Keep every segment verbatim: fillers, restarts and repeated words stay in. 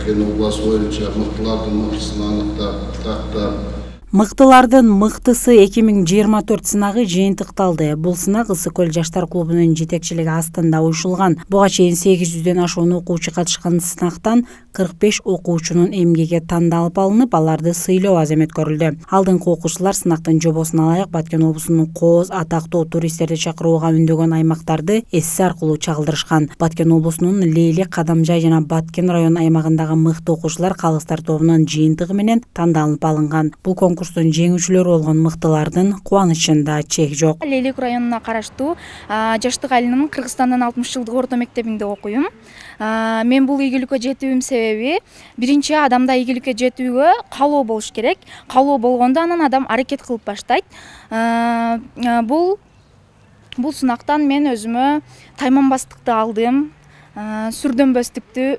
Баткен областы боюнча мыктылардын мыктысын аныктап, тактап. Мыктылардын мыктысы эки миң жыйырма төрт сынагы жыйынтыкталды. Бул сынак Ысык көл жаштар клубунун жетекчилиги астында уюшулган. Буга чейин сегиз жүздөн ашуун окуучу катышкан сынактан кырк беш окуучунун эмгеге тандалып алынып, аларды сыйлоо азамет көрүлдү. Алдыңкы окуучулар сынактын жобосуна ылайык Баткен облусунун кооз атактуу туристтерди чакырууга үндөгөн аймактарды эссе аркылуу чагылдырышкан. Баткен облусунун Лейли, Кадамжай жана Баткен район аймагындагы мыкты окуучулар калыстар тобунун жыйынтыгы менен тандалып алынган. Бул конкурстун жеңүүчүлөрү болгон мыктылардын кубанычында чек жок. Лейлик районуна караштуу Жаштык айылынын Кыргызстандын алтымыш жылдык орто мектебинде окуйм. Мен бул ийгиликке жетүүм себеби биринчи адамда ийгиликке жетүүгө каалоо болуш керек. Каалоо болгондо анан адам аракет кылып баштайт. Бул бул сынактан мен өзүмө тайманбастыкты алдым, сүрдөнбөстүктү.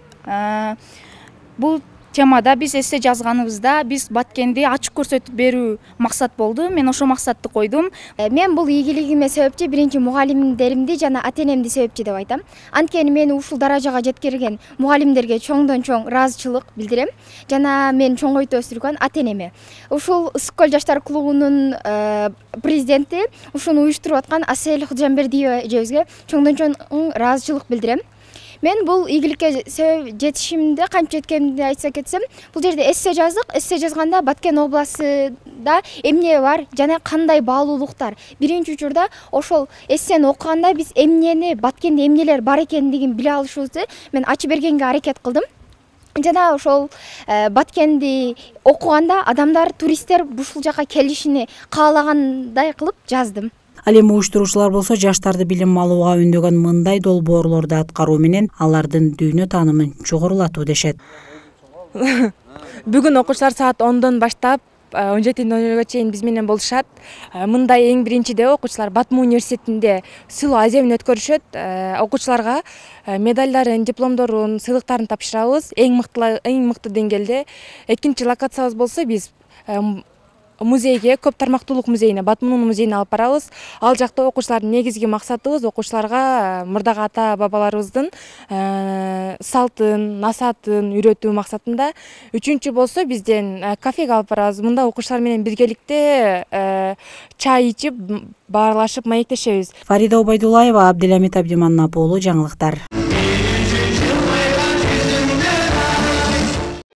Бул темада биз эссе жазганыбызда биз Баткенди ачык көрсөтүп берүү максат болду. Мен ошо максатты койдум. Мен бул ийгилигиме себепчи биринчи мугалимдеримди жана ата-энемди себепчи деп айтам. Анткени мени ушул даражага жеткирген мугалимдерге чоңдон чоң ыраазычылык билдирем. Жана мен чоңойтуп өстүргөн ата-энеме. Ушул Ысык көл жаштар клубунун президенти, ушуну уюштуруп аткан Асель Куджамбердиева эжебизге чоңдон чоң ыраазычылык билдирем. Мен бул ийгиликке жетишимди кантип жеткенимди айтса кетсем, бул жерде эссе жаздык. Эссе жазганда Баткен областында эмне бар жана кандай баалуулуктар. Биринчи учурда ошол эссени окуганда биз эмнени, Баткенде эмнелер бар экендигин биле алышыбызды мен ачып бергенге аракет кылдым. Жана ошол Баткенди окуганда адамдар, туристтер ушул жака келишини каалагандай кылып жаздым. Ал эми уюштуруучулар болсо жаштарды билим алууга үндөгөн мындай долбоорлорду аткаруу менен алардын дүйнө таанымын жогорулатуу дешет. Бүгүн окуучулар саат ондон баштап он жети ноль нөлгө чейин биз менен болушат. Мындай эң биринчиде окуучулар Батым университетинде сыйлоо аземин өткөрүшөт. Окуучуларга медалдарын, дипломдорун, сыйлыктарын тапшырабыз. Эң мыкты эң мыкты деңгээлде. Экинчи локациябыз болсо биз музейге, көп тармактуулук музейине, Батымдын музейине алып барабыз. Ал жакта окуучулардын негизги максатыбыз окуучуларга мурдагы ата-бабаларыбыздын салтын, насаатын үйрөтүү максатында. Үчүнчү болсо бизден кафеге алып барабыз. Мында окуучулар менен биргеликте чай ичип, баарлашып маектешебиз. Фарида Убайдуллаева, Абдиламит Абдиманап уулу, жаңылыктар.